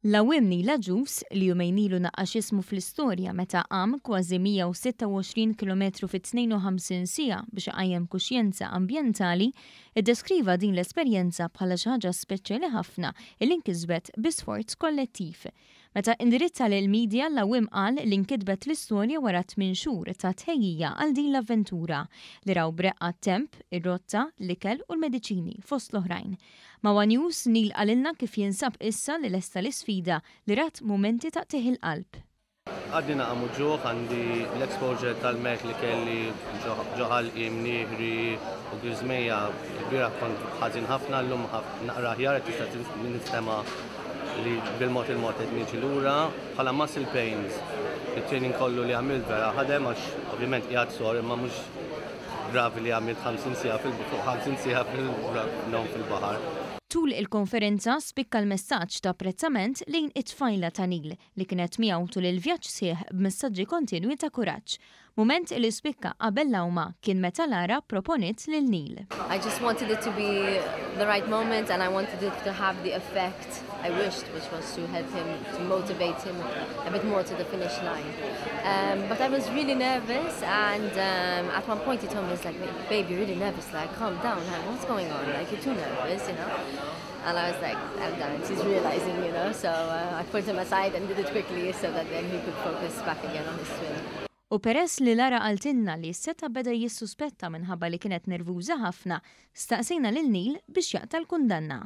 L-għawwiem Neil Agius, li jumejn ilu naqqax ismu fl-istorja meta għam kważi 126 kilometru fi 52 siegħa biex iqajjem kuxjenza ambjentali, iddeskriva din l-esperjenza bħala xi ħaġa speċjali ħafna li nkisbet bi sforz kollettiv. Meta indirizza lill-media, l-għawwiem qal li nkitbet l-istorja wara tminn xhur ta' tħejjija għal din l-avventura, li raw b'reqqa t-temp, ir-rotta, l-ikel u l-mediċini, fost l-oħrajn. Ma' one News, Neil qalilna kif jinsab issa li lesta l-isfida li rat mumenti ta' qtigħ il-qalb. Għadni naqa' muġugħ, għandi l-exposure tal-mewt li kelli ġo ħalqi, mnieħri u griżmejja. Ilbieraħ kont ħażin ħafna, llum naqra aħjar qed tista' ninstema' li bil-mod il-mod qed niġi lura. Bħala muscle pains, it-training kollu li għamilt vera ħadem għax ovvjament qiegħed sor imma mhux gravi li għamilt 50 siegħa fil fuq 50 siegħa fil-ngħum fil-baħar. Tul il-konferenza spikka l-messaġġ ta' apprezzament lejn it-tfajla ta' Neil li kienet miegħu tul il-vjaġġ sħiħ b'messaġġi kontinwi ta' kuraġġ. Mument li spikka qabel l-għawma kien meta Lara pproponiet lil Neil. I just wanted it to be the right moment and I wanted it to have the effect I wished, which was to help him, to motivate him a bit more to the finish line. Um, but I was really nervous and um, at one point he told me, he's like, babe, you're really nervous, like, calm down, what's going on? Like, you're too nervous, you know? And I was like, I'm done. He's realizing, you know. So uh, I put him aside and did it quickly so that then he could focus back again on his swim. U peress li Lara qaltilna li seta beda jissuspetta minħabba li kienet nervuża ħafna, staqsejna lil Neil biex jaqta' l-kundanna.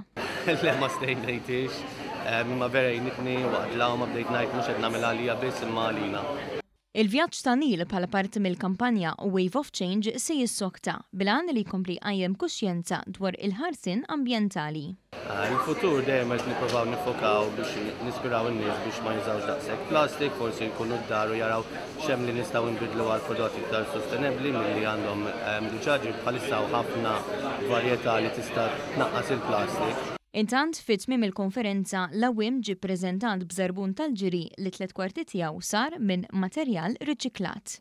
Le ma stejnejtix, imma vera għinitni waqt l-għawma bdejt ngħid mhux qed nagħmilha għalija biss imma għalina. Il-vjaġġ ta' Neil bħala parti mill-kampanja Wave of Change se jissokta, bil-għan li jkompli jqajjem kuxjenza dwar il-ħarsien ambjentali. Il-futur dejjem qed nippruvaw niffokaw biex nispiraw in-nies biex ma jużawx daqshekk plastik, forsi jkunu d-dar u jaraw x'hemm li nistgħu nbiddlu għal prodotti iktar sostenibbli milli għandhom diġà ġifieri bħalissa hawn ħafna varjetà li tista' tnaqqas il-plastik. Intant, fi tmiem il-konferenza, l-għawwiem ġie ppreżentat b'żarbun tal-ġiri li tlett kwarti tiegħu sar minn materjal riċiklat.